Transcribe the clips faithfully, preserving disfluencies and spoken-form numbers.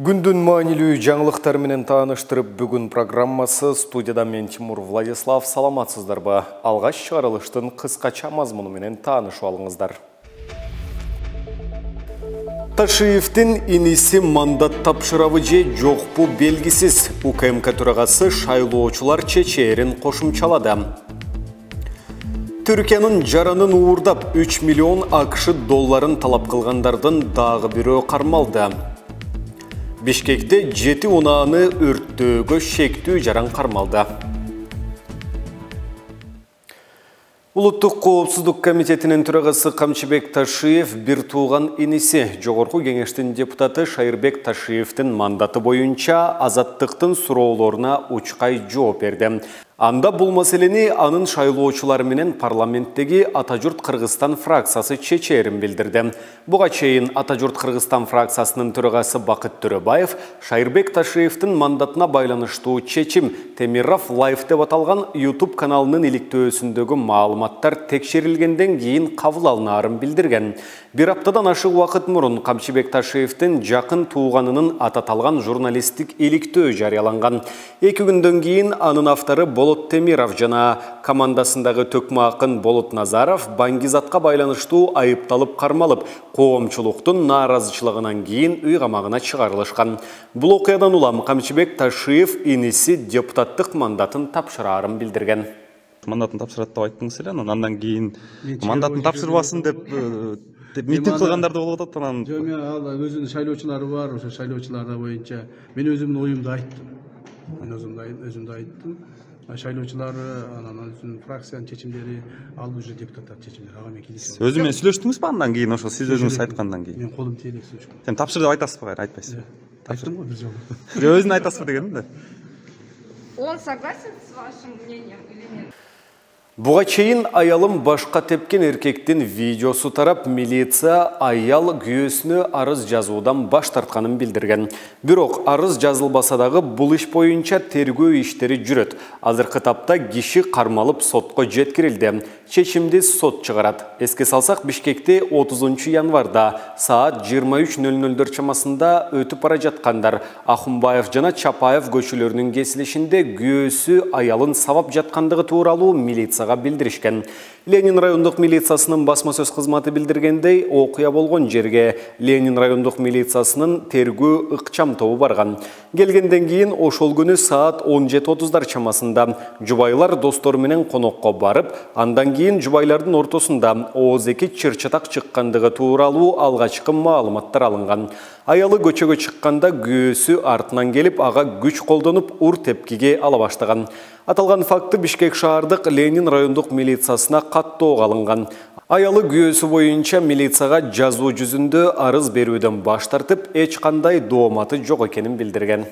Күндүн маанилүү жаңылыктар менен тааныштырып, бүгүн программасы студияда мен Тимур Владислав. Саламатсыздарбы? Алгач чыгарылыштын кыскача мазмуну менен таанышып алыңыздар. Ташиевдин иниси мандат тапшырабы же жокпу белгисиз. УКМК төрагасы шайлоочулар чечээрин кошумчалады. Түркиянын жаранын уурдап үч миллион АКШ долларын талап кылгандардын дагы бирөө кармалды. Бишкекте жети унааны өрттөөгө шектүү жаран кармалды. Улуттук коопсуздук комитетинин төрагасы Камчыбек Ташиев бир тууган иниси Жогорку кеңештин депутаты Шайырбек Ташиевдин мандаты боюнча азаттыктын суроолоруна учкай жооп берди. Анда бул маселени анын шайлоочулары менен парламенттеги Ата журт Кыргызстан фракциясы чечээрин билдирди. Буга чейин Ата журт Кыргызстан фракциясынын төрагасы Бакыт Төрөбаев Шайырбек Ташиевдин мандатына байланыштуу чечим Темиров Лайф деп аталган YouTube каналынын иликтөөсүндөгү маалыматтар текшерилгенден кийин кабыл алынаарын билдирген. Бир аптадан ашык убакыт мурун Камчыбек Ташиевдин жакын тууганынын ататалган журналисттик иликтөө жарыяланган. Эки күндөн кийин анын автору Болот Темиров жана командасындагы төкмө акын Болот Назаров баңгизатка байланыштуу айыпталып кармалып, коомчулуктун нааразычылыгынан кийин үй камагына чыгарылышкан. Бул окуядан улам Камчыбек Ташиев иниси депутаттык мандатын тапшыраарын билдирген. Мандатын тапшырат деп айттыңыз эле, андан кийин мандатын тапшырбасын деп митинг кылгандарды болуп атат. Анан жок, мен ал өзүнүн шайлоочулары бар, ошо шайлоочулар боюнча мен өзүмдүн оюмду айттым. Мен өзүмдү айттым. Шайлоочулары анан өзүнүн фракциянын чечимдери, ал уже депутаттар чечимдери. Ага мен келишем. Өзү менен сүйлөштүңүзбү андан кийин, ошо сиз өзүңүз айткандан кийин? Мен колум тийбей сүйлөштүм. Сен тапшыр деп айтасызбы, кайра айтпайсызбы? Айттым го бир жолу. Өзүн айтасызбы дегеним да. Он согласен с вашим мнением или нет? Буга чейин аялым башка тепкен эркектин видеосу тарап, милиция аял күйөөсүнө арыз жазуудан баш тартканын билдирген. Бирок арыз жазылбаса дагы бул иш боюнча тергөө иштери жүрөт. Азыркы тапта киши кармалып сотко жеткирилди. Чечимди сот чыгарат. Эске салсак, Бишкекте отузунчу январда саат жыйырма үч нөл нөлдөр чамасында өтүп бара жаткандар Ахунбаев жана Чапаев көчөлөрүнүн кесилишинде күйөөсү аялын сабап жаткандыгы тууралуу милиция билдиришкен. Ленин райондук милициясынын басма сөз кызматы билдиргендей, окуя болгон жерге Ленин райондук милициясынын тергөө ыкчам тобу барган. Келгенден кийин ошол күнү саат он жети отуздар чамасында жубайлар достору менен конокко барып, андан кийин жубайлардын ортосунда ооз эки чыр-чатак чыккандыгы тууралуу алгачкы маалыматтар алынган. Аялы көчөгө чыкканда күйөөсү артынан келип, ага күч колдонуп, ур тепкиге ала баштаган. Аталган факты Бишкек шаардык Ленин райондук милициясына каттоого алынган. Аялы күйөөсү боюнча милицияга жазуу жүзүндө арыз берүүдөн баш тартып, эч кандай дооматы жок экенин билдирген.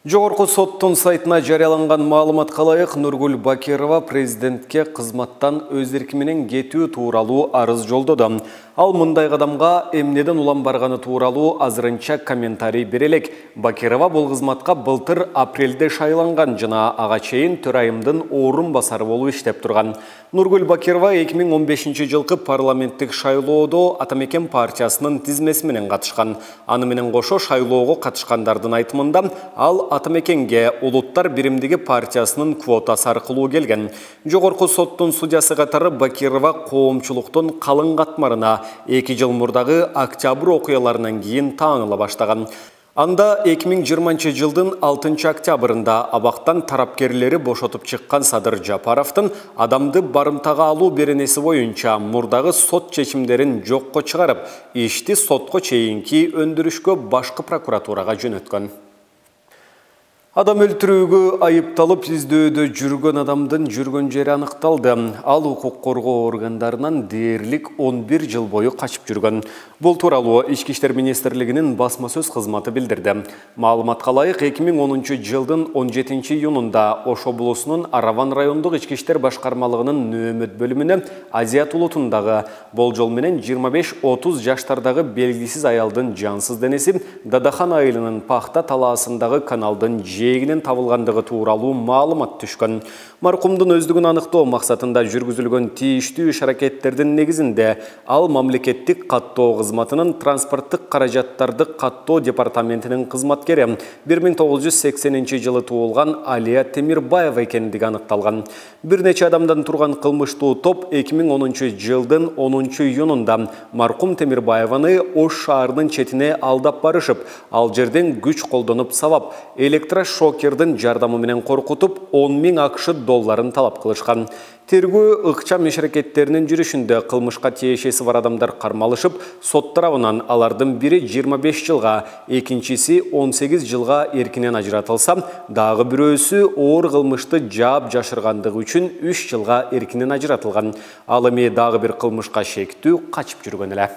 Жогорку соттун сайтына жарыяланган маалыматка ылайык, Нургул Бакирова президентке кызматтан өз эрки менен кетүү тууралуу арыз жолдоду. Ал мындай кадамга эмнеден улам барганы тууралуу азырынча комментарий бере элек. Бакирова бул кызматка былтыр апрелде шайланган жана ага чейин төрайымдын орун басары болуп иштеп турган. Нургул Бакирова эки миң он бешинчи жылкы парламенттик шайлоодо Атамекен партиясынын тизмеси менен катышкан. Аны менен кошо шайлоого катышкандардын айтымында ал Атамекенге Улуттар биримдиги партиясынын квотасы аркылуу келген. Жогорку соттун судьясы катары Бакирова коомчулуктун калың катмарына эки жыл мурдагы октябрь окуяларынан кийин тааныла баштаган. Анда эки миң жыйырманчы жылдын алтынчы октябрында абактан тарапкерлери бошотуп чыккан Садыр Жапаровдун адамды барымтага алуу беренеси боюнча мурдагы сот чечимдерин жокко чыгарып, ишти сотко чейинки өндүрүшкө башкы прокуратурага жөнөткөн. Адам өлтүрүүгө айыпталып издөөдө жүргөн адамдын жүргөн жери аныкталды. Ал укук коргоо органдарынан дээрлик он бир жыл бою качып жүргөн. Бул тууралуу Ички иштер министрлигинин басма сөз кызматы билдирди. Маалыматка ылайык, эки миң онунчу жылдын он жетинчи июнунда Ош облусунун Араван райондук ички иштер башкармалыгынын нөөмөт бөлүмүнө Азият улутундагы болжол менен жыйырма беш отуз жаштардагы белгисиз аялдын жансыз денеси Дадахан айылынын Пахта талаасындагы каналдын жээгинен табылгандыгы тууралуу маалымат түшкөн. Маркумдун өздүгүн аныктоо максатында жүргүзүлгөн тийиштүү иш-аракеттердин негизинде ал мамлекеттик каттоо кызматынын транспорттук каражаттарды каттоо департаментинин кызматкери бир миң тогуз жүз сексенинчи жылы туулган Алия Темирбаева экендиги аныкталган. Бир нече адамдан турган кылмыштуу топ эки миң онунчу жылдын онунчу июнунда маркум Темирбаеваны Ош шаарынын четине алдап барышып, ал жерден күч колдонуп сабап, электрошокердин жардамы менен коркутуп, он миң акш долларын талап кылышкан. Тергөө ыкчам иш-аракеттеринин жүрүшүндө кылмышка тиешеси бар адамдар кармалышып, сот тарабынан алардын бири жыйырма беш жылга, экинчиси он сегиз жылга эркинен ажыратылса, дагы бирөөсү оор кылмышты жаап жашыргандыгы үчүн үч жылга эркинен ажыратылган. Ал эми дагы бир кылмышка шектүү качып жүргөн эле.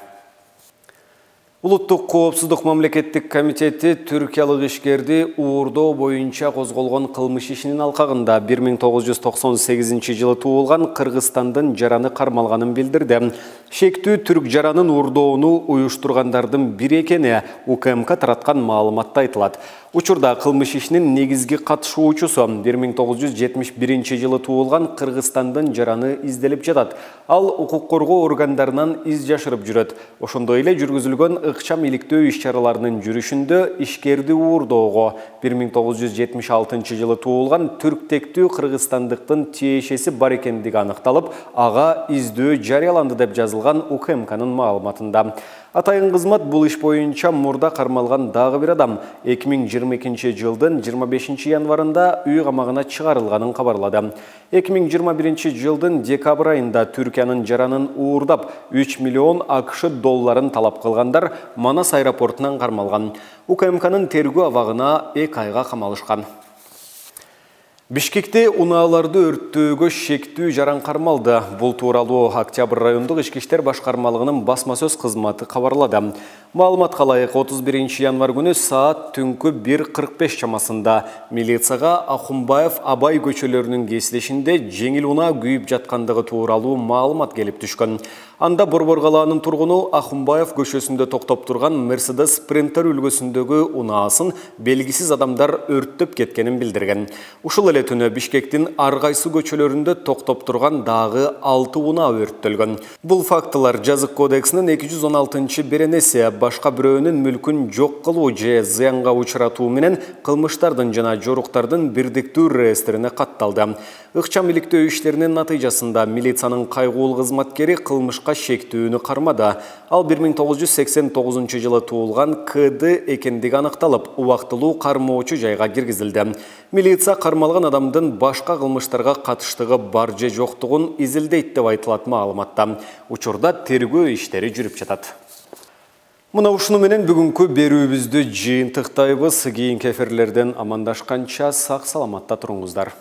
Улуттук коопсуздук мамлекеттик комитети түркиялык ишкерди уурдоо боюнча козголгон кылмыш ишинин алкагында бир миң тогуз жүз токсон сегизинчи жылы туулган Кыргызстандын жараны кармалганын билдирди. Шектүү түрк жаранын уурдоону уюштургандардын бири экени УКМК тараткан маалыматта айтылат. Учурда кылмыш ишинин негизги катышуучусу бир миң тогуз жүз жетимиш биринчи жылы туулган Кыргызстандын жараны изделип жатат. Ал укук коргоо органдарынан из жашырып жүрөт. Ошондой эле жүргүзүлгөн ыкчам иликтөө иш-чараларынын жүрүшүндө ишкерди уурдоого бир миң тогуз жүз жетимиш алтынчы жылы туулган түрктектүү кыргызстандыктын тиешеси бар экендиги аныкталып, ага издөө жарыяланды деп жазылган УКМКнын маалыматында. Атайын кызмат бул иш боюнча мурда кармалган дагы бир адам эки миң жыйырма экинчи жылдын жыйырма бешинчи январында үй камагына чыгарылганын кабарлады. эки миң жыйырма биринчи жылдын декабрь айында Түркиянын жаранын уурдап үч миллион акш долларын талап кылгандар Манас аэропортунан кармалган. УКМКнын тергөө абагына эки айга камалышкан. Бишкекте унааларды өрттөөгө шектүү жаран кармалды. Бул тууралуу Октябрь райондук ички иштер башкармалыгынын басма сөз кызматы кабарлады. Маалыматка ылайык отуз биринчи январь күнү саат түнкү бир кырк беш чамасында милицияга Ахунбаев Абай көчөлөрүнүн кесилишинде жеңил унаа күйүп жаткандыгы тууралуу маалымат келип түшкөн. Анда Борбор калаанын тургуну Ахунбаев көчөсүндө токтоп турган Мерседес Спринтер үлгүсүндөгү унаасын белгисиз адамдар өрттөп кеткенин билдирген. Ушул эле түнү Бишкектин ар кайсы көчөлөрүндө токтоп турган дагы алты унаа өрттөлгөн. Бул фактылар Жазык кодексинин эки жүз он алтынчы беренеси башка бирөөнүн мүлкүн жок кылуу же зыянга учуратуу менен кылмыштардын жана жоруктардын бирдиктүү реестрине катталды. Ыкчам иликтөө иштеринин натыйжасында милициянын кайгуул кызматкери кылмышка шектүүнү кармады. Ал бир миң тогуз жүз сексен тогузунчу жылы туулган К Д экендиги аныкталып, убактылуу кармоочу жайга киргизилди. Милиция кармалган адамдын башка кылмыштарга катыштыгы бар же жоктугун изилдейт деп айтылат маалыматта. Учурда тергөө иштери жүрүп жатат. Мына ушуну менен бүгүнкү берүүбүздү жыйынтыктайбыз. Кийинки эфирлерден амандашканча сак саламатта туруңуздар.